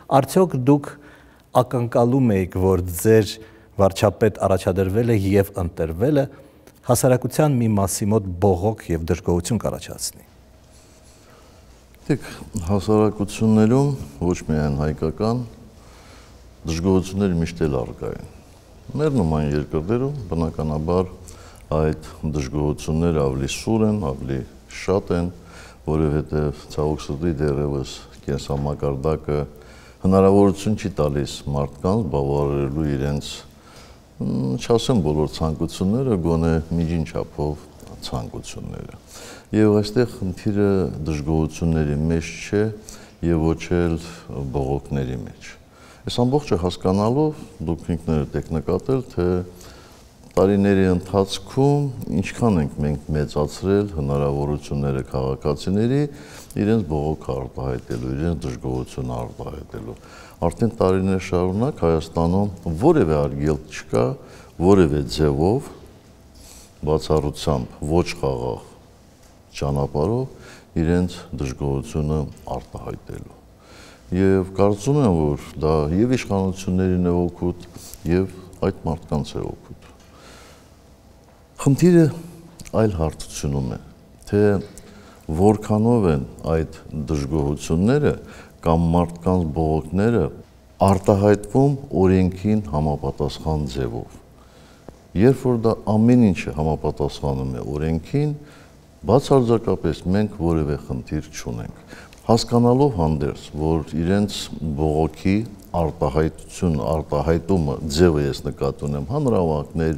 Արդյոք դուք ակնկալում եք, որ ձեր վարչապետ առաջադրվել է եւ ընտրվել է հասարակության մի մասի մոտ բողոք եւ դժգոհություն կառաջացնի։ Դեք հասարակություններում ոչ միայն հայկական դժգոհությունները միշտ էլ առկա են։ Մեր նման երկրներում բնականաբար այդ դժգոհությունները ավելի սուր են, ավելի շատ են, որովհետև ցավոք սրտի դեռևս կենսամակարդակը հնարավորություն չի տալիս մարդկանց բավարարելու իրենց, չասեմ բոլոր ցանկությունները, գոնե միջին չափով ցանկությունները։ Եվ այստեղ խնդիրը դժգոհությունների մեջ չէ եւ ոչ էլ բողոքների մեջ։ Այս ամբողջը հասկանալով դուք ինքներդ եք նկատել, թե տարիների ընթացքում ինչքան ենք մենք մեծացրել հնարավորությունները քաղաքացիների իրենց բողոքը արտահայտելու, իրենց դժգոհությունը արտահայտելու։ Արդեն տարիներ շարունակ Հայաստանում որևէ արգելք չկա, որևէ ձևով բացառությամբ ոչ խաղաղ ճանապարհով իրենց դժգոհությունը արտահայտելու։ Եվ կարծում եմ, որ դա եւ իշխանություններին է օգուտ, եւ այդ մարդկանց է օգուտ։ Խնդիրը այլ հարթությունում է, թե որքանով են այդ դժգոհությունները կամ մարդկանց բողոքները արտահայտվում օրենքին համապատասխան ձևով։ Երբ որ դա ամեն ինչը համապատասխանում է օրենքին, բացարձակապես մենք որևէ խնդիր չունենք։ Հասկանալով հանդերձ, որ իրենց բողոքի արտահայտումը ձևը ես նկատի ունեմ, հանրավանքներ,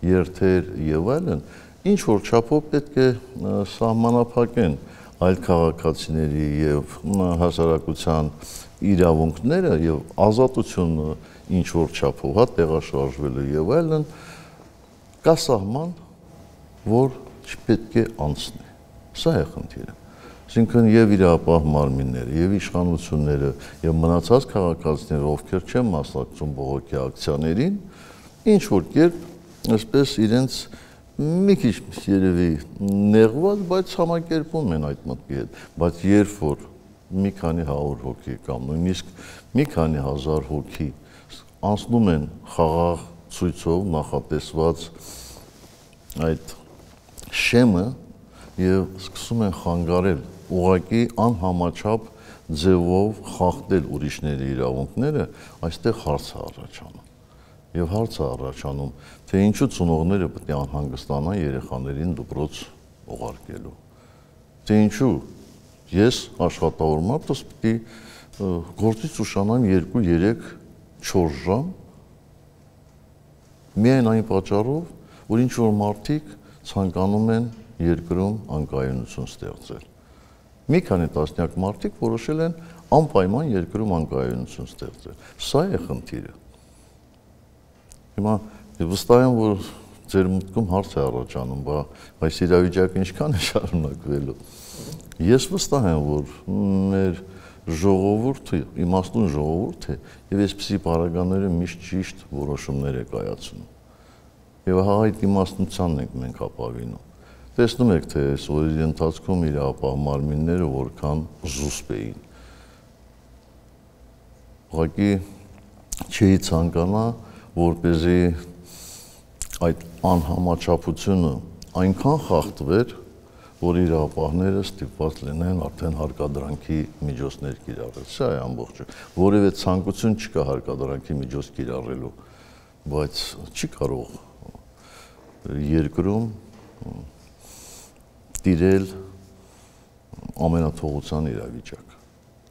երթեր եւ այլն, ինչ որ չափով պետք է սահմանափակեն այլ քաղաքացիների եւ հասարակության իրավունքները եւ ազատությունը ինչ որ չափով տեղաշարժվելու եւ այլն, կա սահման, որ չպետք է անցնի։ Սա է խնդիրը։ Այսինքն եւ իրապահ մարմինները, եւ իշխանությունները, եւ մնացած քաղաքացիները, ովքեր չեն մասնակցում բողոքի ակցիաներին, ինչ որ կերպ, այսպես իրենց մի քիչ երևի նեղված, բայց համակերպում են այդ մտքի հետ, բայց երբ որ մի քանի 100 հոգի կամ նույնիսկ մի քանի 1000 հոգի անցնում են խաղաղ ցույցով նախատեսված այդ շեմը եւ սկսում են խանգարել ուղղակի անհամաչափ ձևով խախտել ուրիշների իրավունքները, այստեղ հարց է առաջանում։ Եվ հարց է առաջանում, թե ինչու ծնողները պետք է անհանգստանան երեխաներին դպրոց ուղարկելու։ Թե ինչու ես աշխատավոր մարդս պետք է գործից ուշանամ 2-3 4 ժամ միայն այն պատճառով, որ ինչ որ մարդիկ ցանկանում են երկրում անկայունություն ստեղծել։ Մի քանի տասնյակ մարդիկ որոշել են անպայման երկրում անկայունություն ստեղծել։ Սա է խնդիրը։ Հիմա վստահ եմ, որ ձեր մտքում հարց է առաջանում, բայց իրավիճակը ինչքան է շարունակվելու։ Ես վստահ եմ, որ մեր ժողովուրդը, իմաստուն ժողովուրդ է, եւ այսպիսի պարագաները միշտ ճիշտ որոշումներ է կայացնում։ Եվ հա այդ իմաստնությանն ենք մենք ապավինում։ Տեսնում եք, թե այս օրերի ընթացքում իրապահ մարմինները որքան զուսպ էին։ Ուղղակի չի ցանկանա, որպեսզի այդ անհամաչափությունը այնքան խախտվեր, որ իրապահները ստիպված լինեն արդեն հարկադրանքի միջոցներ կիրառել։ Սա է ամբողջը։ Որևէ ցանկություն չկա հարկադրանքի միջոց կիրառելու, բայց չի կարող երկրում տիրել ամենաթողության իրավիճակ։